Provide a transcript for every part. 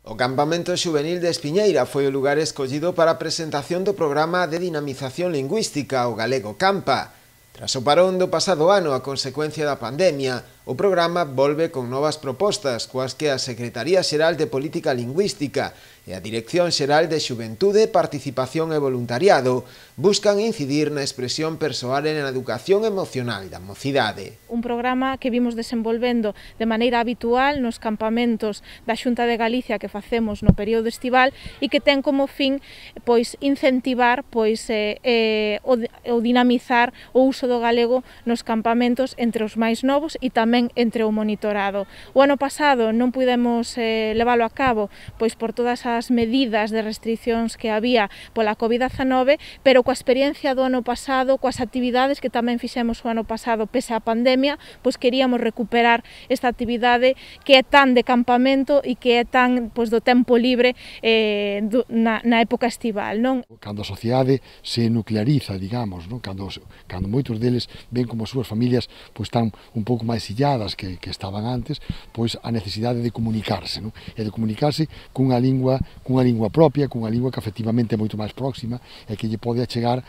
O campamento xuvenil de Espiñeira foi o lugar escollido para a presentación do programa de dinamización lingüística, o Galego Campa. Tras o parón do pasado ano a consecuencia da pandemia, o programa volve con novas propostas, coas que a Secretaría Xeral de Política Lingüística e a Dirección Xeral de Xuventude, Participación e Voluntariado buscan incidir na expresión persoal e na educación emocional da mocidade. Un programa que vimos desenvolvendo de maneira habitual nos campamentos da Xunta de Galicia que facemos no período estival e que ten como fin incentivar o dinamizar o uso do galego nos campamentos entre os máis novos e tamén entre o monitorado. O ano pasado non pudemos leválo a cabo por todas as medidas de restriccións que había pola COVID-19, pero coa experiencia do ano pasado, coas actividades que tamén fixemos o ano pasado pese á pandemia, queríamos recuperar esta actividade que é tan de campamento e que é tan do tempo libre na época estival, non? Cando a sociedade se nucleariza, digamos, non? Cando moitos deles ven como as súas familias están un pouco máis illadas que estaban antes, a necesidade de comunicarse, non? E de comunicarse cunha lingua propia, cunha lingua que efectivamente é moito máis próxima e que lle pode achegar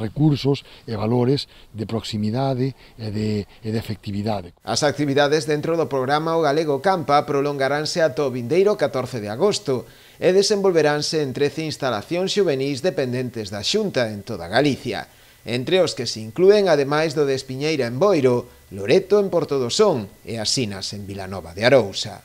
recursos e valores de proximidade e de efectividade. As actividades dentro do programa O Galego Campa prolongaránse ata o vindeiro 14 de agosto e desenvolveránse en 13 instalacións xuvenís dependentes da Xunta en toda Galicia, entre os que se inclúen, ademais do de Espiñeira en Boiro, Loreto en Portodosón e Asinas en Vilanova de Arousa.